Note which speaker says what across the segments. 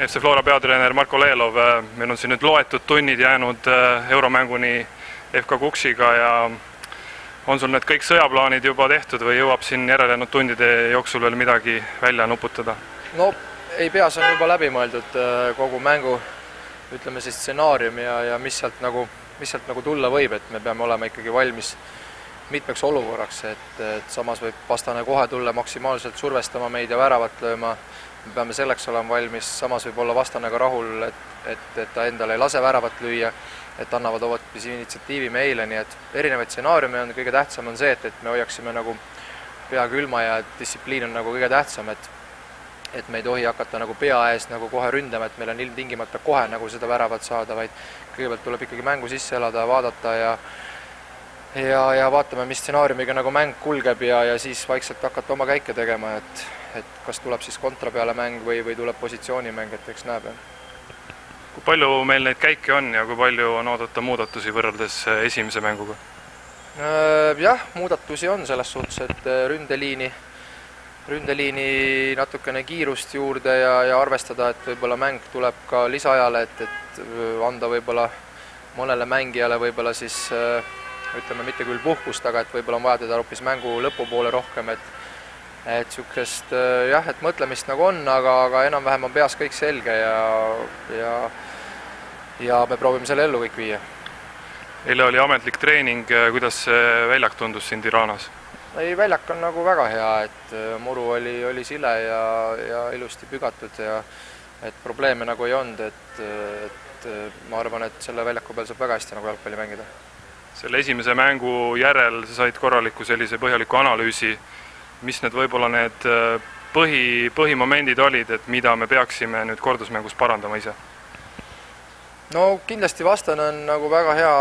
Speaker 1: FC Flora peatreener Marko Lelov, meil on siin nüüd loetud tunnid jäänud euromänguni FK Kuksiga ja on sul need kõik sõjaplaanid juba tehtud või jõuab siin järelejäänud tundide jooksul veel midagi välja nuputada?
Speaker 2: No ei pea, see on juba läbi mõeldud kogu mängu, ütleme siis stsenaarium ja mis sealt nagu tulla võib, et me peame olema ikkagi valmis mitmeks olukorraks, et samas võib vastane kohe tulla maksimaalselt survestama meid ja väravat lööma. Me peame selleks olema valmis, samas võib olla vastane ka rahul, et ta endale ei lase väravat lüüa, et annavad hoopis initsiatiivi meile, nii et erinevaid stsenaariume on, kõige tähtsam on see, et me hoiaksime nagu pea külma ja distsipliin on nagu kõige tähtsam, et me ei tohi hakata nagu pea ees nagu kohe ründama, et meil on ilmtingimata kohe nagu seda väravat saada, vaid kõigepealt tuleb ikkagi mängu sisse elada, vaadata ja vaatame, mis stsenaariumiga nagu mäng kulgeb ja siis vaikselt hakata oma käike tegema, et kas tuleb siis kontra peale mäng või tuleb positsioonimäng, et eks näeb.
Speaker 1: Kui palju meil neid käike on ja kui palju on oodata muudatusi võrreldes esimese mänguga?
Speaker 2: Jah, muudatusi on selles suhtes, et ründeliini natukene kiirust juurde ja arvestada, et võib-olla mäng tuleb ka lisaajale, et anda võib-olla mõnele mängijale võib-olla siis ütleme mitte küll puhkust, aga et võib-olla on vaja teda hoopis mängu lõpupoole rohkem, et sükest jah, et mõtlemist nagu on, aga enam-vähem on peas kõik selge ja me proovime selle ellu kõik viia.
Speaker 1: Eile oli ametlik treening, kuidas see väljak tundus siin Tiranas?
Speaker 2: Ei, väljak on nagu väga hea, et muru oli sile ja ilusti pügatud ja et probleeme nagu ei olnud, et ma arvan, et selle väljaku peal saab väga hästi nagu jalgpalli mängida.
Speaker 1: Selle esimese mängu järel sa said korraliku sellise põhjaliku analüüsi. Mis need võib-olla need põhimomendid olid, et mida me peaksime nüüd kordusmängus parandama ise?
Speaker 2: No kindlasti vastane on nagu väga hea,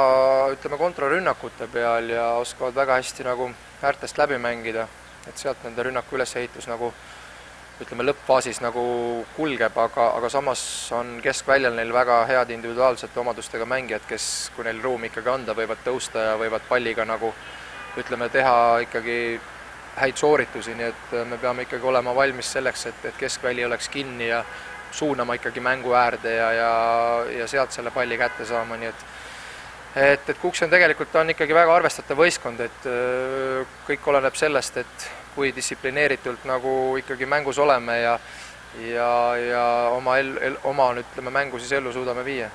Speaker 2: ütleme, kontrarünnakute peal ja oskavad väga hästi nagu äärtest läbi mängida, et sealt nende rünnaku ülesehitus nagu ütleme lõppfaasis nagu kulgeb, aga samas on keskväljal neil väga head individuaalsete omadustega mängijad, kes, kui neil ruumi ikkagi anda, võivad tõusta ja võivad palliga nagu ütleme teha ikkagi häid sooritusi, nii et me peame ikkagi olema valmis selleks, et keskväli oleks kinni ja suunama ikkagi mängu äärde ja sealt selle palli kätte saama, nii et Kuks on tegelikult on ikkagi väga arvestatav võistkond, et kõik oleneb sellest, et kui distsiplineeritult nagu ikkagi mängus oleme ja oma ütleme, mängu siis ellu suudame viia.